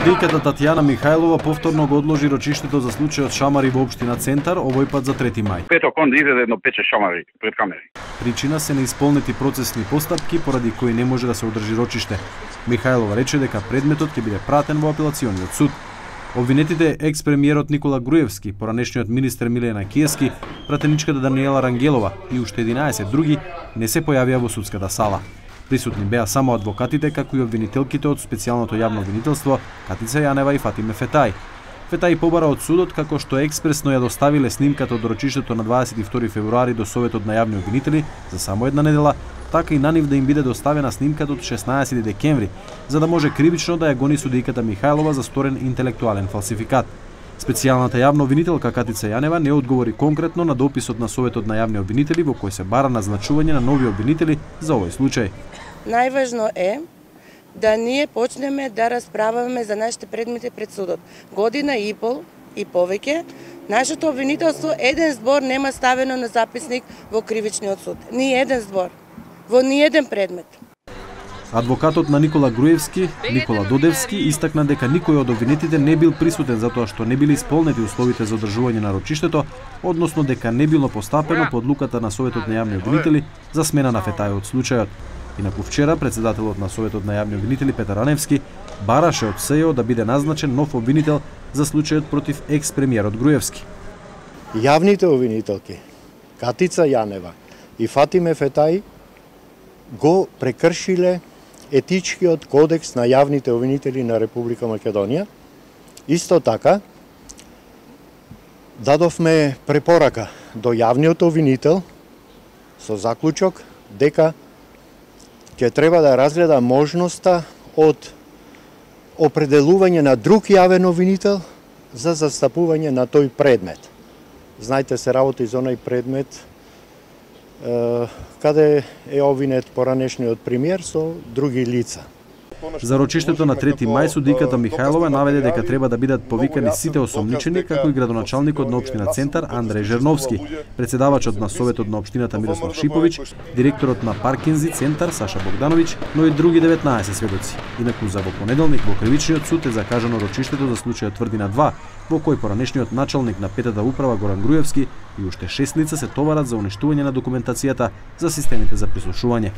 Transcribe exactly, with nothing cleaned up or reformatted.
Судијката Татјана Михајлова повторно го одложи рочиштето за случајот Шамари во општина Центар, овој пат за трети мај. Петок он изеде едно пече шамари пред камери. Причина се неисполнети процесни постапки поради кои не може да се одржи рочиште. Михајлова рече дека предметот ќе биде пратен во апелациониот суд. Обвинетите екс-премиерот Никола Груевски, поранешниот министер Милена Киевски, пратеничката Даниела Рангелова и уште единаесет други не се појавија во судската сала. Присутни беа само адвокатите, како и обвинителките од специјалното јавно обвинителство Катица Јанева и Фатиме Фетај. Фетај побара од судот како што експресно ја доставиле снимката од рочиштето на дваесет и втори февруари до Советот на јавни обвинители за само една недела, така и на нив да им биде доставена снимката од шеснаесети декември, за да може кривично да ја гони судијката Михајлова за сторен интелектуален фалсификат. Специјалната јавна обвинителка Катица Јанева не одговори конкретно на дописот на Советот на јавни обвинители во кој се бара назначување на нови обвинители за овој случај. Најважно е да ние почнеме да расправаме за нашите предмети пред судот. Година и пол и повеќе, нашето обвинителство еден збор нема ставено на записник во кривичниот суд. Ни еден збор, во ни еден предмет. Адвокатот на Никола Груевски, Никола Додевски, истакна дека никој од обвинетите не бил присутен затоа што не били исполнети условите за одржување на рочиштето, односно дека не било постапено по одлуката на Советот на јавни обвинители за смена на Фетај од случајот. Инаку вчера председателот на Советот на јавни обвинители Петар Раневски бараше од СЕО да биде назначен нов обвинител за случајот против екс-премиерот Груевски. Јавните обвинителки Катица Јанева и Фатиме Фетај го прекршиле етичкиот кодекс на јавните обвинители на Република Македонија. Исто така дадовме препорака до јавниот обвинител со заклучок дека ќе треба да разгледа можноста од определување на друг јавен обвинител за застапување на тој предмет. Знаете, се работи за онај предмет каде е обвинет поранешниот премиер со други лица. За рочиштето на трети мај судијката Михајлова наведе дека треба да бидат повикани сите осомничени, како и градоначалникот на општина Центар Андреј Жерновски, председавачот на Советот на општината Мирослав Шиповиќ, директорот на Паркинзи Центар Саша Богдановиќ, но и други деветнаесет сведоци. Инаку за во понеделник во кривичниот суд е закажано рочиштето за случајот Тврдина два, во кој поранешниот началник на петата управа Горан Груевски и уште шест лица се товарат за уништување на документацијата за системите за прислушување.